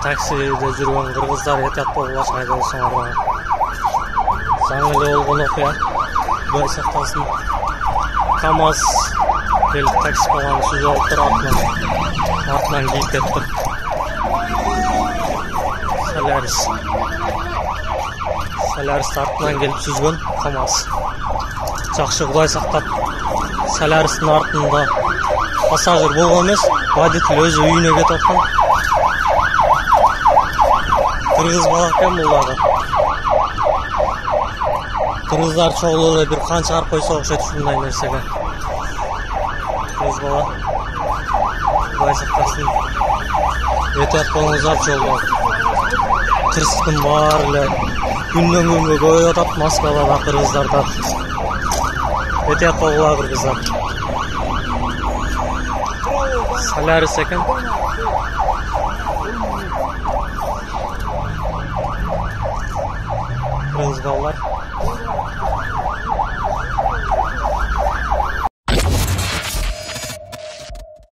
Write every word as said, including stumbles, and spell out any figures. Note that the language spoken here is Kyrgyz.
таксиде жүргөн кыргыздар этият болгулачы айдоосуңар. Жаңы эле болгон окуя. Кудай сактасын. КамАЗ келип такси болгон сүзүп алып турат. Артынан кийип кетти. Солярис. Солярис артынан келип сүзгөн КамАЗ. Жакшы, Кудай сактап. Соляристин артында пассажир болгон эмес, водитель өзү үйүнө кетип аткан. Кыргыз бала экен бул дагы. Кыргыздар чогуу эле бир канча чыгарып койсо окшойт ушундай нерсеге. Кыргыз бала. Кудай сактасын. Этият болуңуздар жолдо. Кырсыктын баары эле күндөн күнгө көбөйүп атат Москвада да, кыргыздарда. Этият болгула кыргыздар. Солярис экен. Кыргыз балдар.